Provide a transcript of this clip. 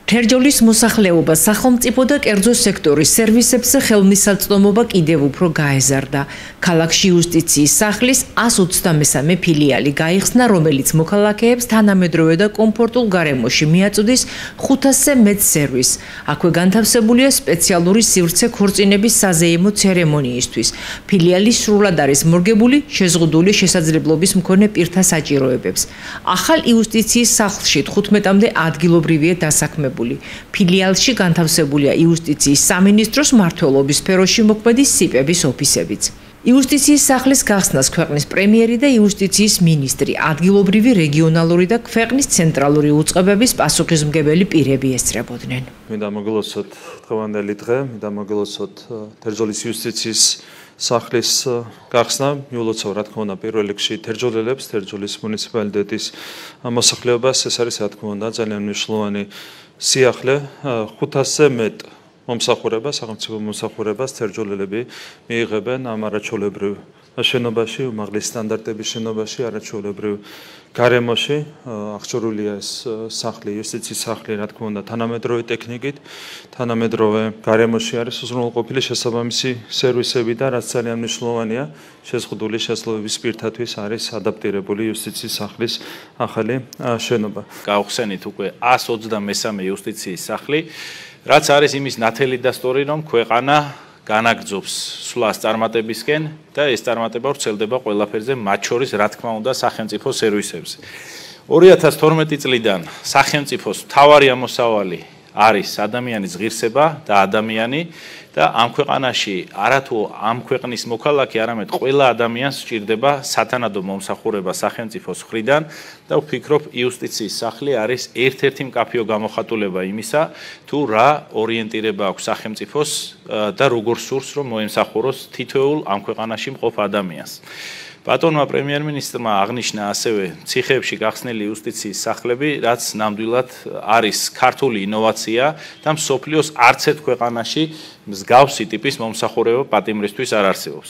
თერჯოლის მოსახლეობა, სახელმწიფო და კერძო სექტორის სერვისებზე ხელმისაწვდომობა კიდევ უფრო გაეზარდა. ქალაქში იუსტიციის სახლის 123 ფილიალი გაიხსნა, რომელიც მოქალაქეებს თანამედროვე და კომფორტულ გარემოში მიაწვდის 500-ზე მეტ სერვისს. აქვე განთავსებულია სპეციალური სივრცე ქორწინების საზეიმო ცერემონიისთვის. ფილიალი სრულად არის მორგებული შეზღუდული შესაძლებლობის მქონე პირთა საჭიროებებს. ახალ იუსტიციის სახლში 15-მდე ადგილობრივია დასაქმებული. ფილიალში განთავსებულია იუსტიციის სამინისტროს მმართველობის სფეროში მოქმედი სიპების ოფისებიც. იუსტიციის სახლის გახსნას ქვეყნის პრემიერი და იუსტიციის მინისტრი, ადგილობრივი, რეგიონალური და ქვეყნის ცენტრალური უწყებების პასუხისმგებელი პირები ესწრებოდნენ. მინდა მოგილოცოთ დღევანდელი დღე, მინდა მოგილოცოთ თერჯოლის იუსტიციის სახლის გახსნა, მიულოცავ რა თქმა უნდა პირველ რიგში თერჯოლელებს, თერჯოლის მუნიციპალიტეტის მოსახლეობას, ეს არის რა თქმა უნდა ძალიან მნიშვნელოვანი სიახლე, 500-ზე მეტ მომსახურებას, სახელმწიფო მომსახურებას თერჯოლელები მიიღებენ ამ არაჩვეულებრივ შენობაში, უმაღლესი სტანდარტების შენობაში, არაჩვეულებრივ გარემოში. აღჭურვილია ეს სახლი, იუსტიციის სახლი, რა თქმა უნდა, თანამედროვე ტექნიკით, თანამედროვე გარემოში არის უზრუნველყოფილი შესაბამისი სერვისები და რაც ძალიან მნიშვნელოვანია, შეზღუდული შესაძლებლობის პირთათვის არის ადაპტირებული იუსტიციის სახლის ახალი შენობა. გავხსენით უკვე 123 იუსტიციის სახლი, რაც არის იმის ნათელი დასტური, რომ ქვეყანა განაგრძობს სვლას წარმატებისკენ და ეს წარმატება ვრცელდება ყველაფერზე, მათ შორის რა თქმა უნდა სახელმწიფო სერვისებზე. 2012 წლიდან სახელმწიფოს მთავარი ამოსავალი არის ადამიანის ღირსება და ადამიანი და ამ ქვეყანაში არათუ ამ ქვეყნის მოქალაქე, არამედ ყველა ადამიანს სჭირდება სათანადო მომსახურება სახელმწიფოს მხრიდან და ვფიქრობ იუსტიციის სახლი არის ერთ-ერთი მკაფიო გამოხატულება იმისა, თუ რა ორიენტირება აქვს სახელმწიფოს და როგორ სურს რომ მოემსახუროს თითოეულ ამ ქვეყანაში მყოფ ადამიანს. ბატონმა პრემიერ-მინისტრმა აღნიშნა ასევე ციხეებში გახსნილი იუსტიციის სახლები, რაც ნამდვილად არის ქართული ინოვაცია და მსოფლიოს არც ერთ ქვეყანაში მსგავსი ტიპის მომსახურება პატიმრისთვის არ არსებობს.